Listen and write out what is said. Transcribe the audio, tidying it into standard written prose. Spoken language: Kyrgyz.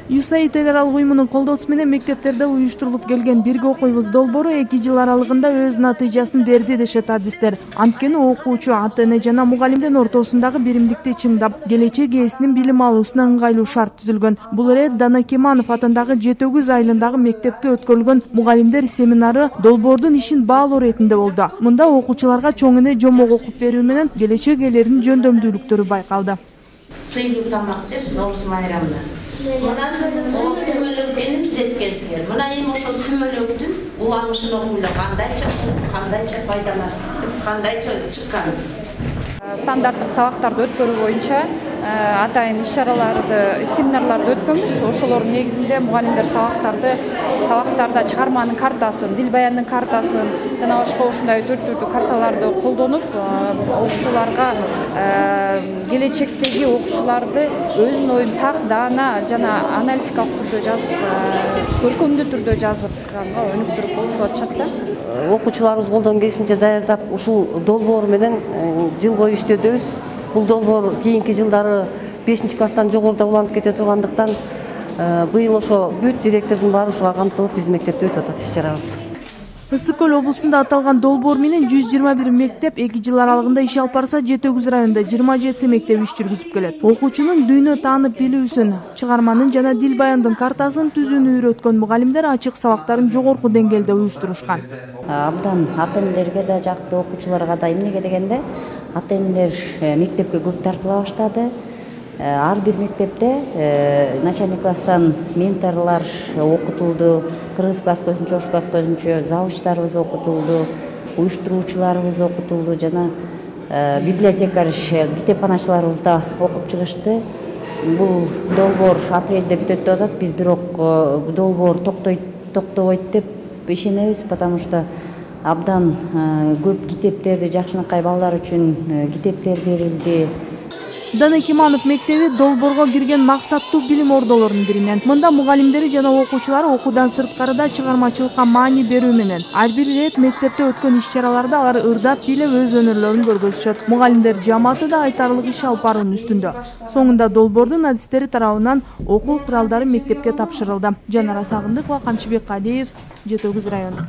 USAID эл аралык уюмунун колдоосу менен мектептерде уюштурулуп келген бирге окуйбуз долбоору 2 жыл аралыгында өз натыйжасын берди дешет адистер. Анткени окуучу, ата-эне жана мугалимдин ортосундагы биримдикти чыңдап, келечек ээсинин билим алуусуна ыңгайлуу шарт түзүлгөн. Бул ирет Дана Кеманов атындагы Жетөгүз айылындагы мектепте өткөрүлгөн мугалимдер семинары долбоордун ишин баалоо иретинде болду. Мында окуучуларга чоң эне жомок окуп берүү менен келечек ээлеринин жөндөмдүүлүктөрү байкалды. Сыйлуу тамак деп Ноорус майрамда. Мына сүмөлөктеним деткенсиңер. Мына эми ошо сүмөлөктүн уламышын окуйлар кандайча пайдаланып, кандайча чыккан. Стандарттык сабактарды өткөрүү боюнча атайын иш-чараларды, семинарларды өткөнбүз. Ошолордун негизинде мугалимдер сабактарда чыгарманын картасын, дил баяндын картасын жана башка ушундай төрт карталарды колдонуп, окуучуларга келечектеги окуучуларды өзүнүн оюн так, даана жана аналитикалык түрдө жазып, көркөмдүү түрдө жазганга өнүктүрүп окутуп атышат да. Окуучуларыбыз колдон келишинче даярдап, ушул долбоор менен жыл бою иштөөдөбүз. Бул долбоор кийинки жылдары 5-класстан жогоруда уланып кете тургандыктан быйыл ошо бүт директордун баары ушуга камтылып биздин мектепте өтүп атат иш-чарабыз. Ысык көл облусунда аталган долбоор менен 121 мектеп 2 жыл аралыгында иш алып барса, Жетөгүз районунда 27 мектеп иш жүргүзүп келет. Окуучунун дүйнө таанып билүүсүн, чыгарманын жана дил баяндын картасын түзүүнү үйрөткөн мугалимдер ачык сабактарын жогорку деңгээлде уюштурушкан. Абдан ата-энелерге да жакты, окуучуларга да эмнеге дегенде ата-энелер мектепке көп тартыла баштады. Ар бир мектепте начальный класстан менторлор окутулду, кыргыз класс көзүнчө, ош класс көзүнчө завучтарыбыз окутулду, уюштуруучуларыбыз окутулду жана библиотекарь, китепканачыларыбыз да окуп чыгышты. Бул долбоор апрелде бүтөт деп атат. Биз бирок долбоор токтобойт деп ишенебиз, потому что абдан көп китептерди, жакшынакай балдар үчүн китептер берилди. Дана Кеманов мектеби долбоорго кирген максаттуу билим ордолорунун биринен. Мында мугалимдери жана окуучулар окуудан сырткарыда чыгармачылыкка маани берүү менен ар бир ирет мектепте өткөн иш-чараларда алар ырдап билип өз өнөрлөрүн көргөзүшөт. Мугалимдер жамааты да айтарлык иш алып баруунун үстүндө. Соңунда долбоордун адистери тарабынан окуу куралдары мектепке тапшырылды. Жанара Сагындыкова, Камчыбек Калиев, Жетөгүз району.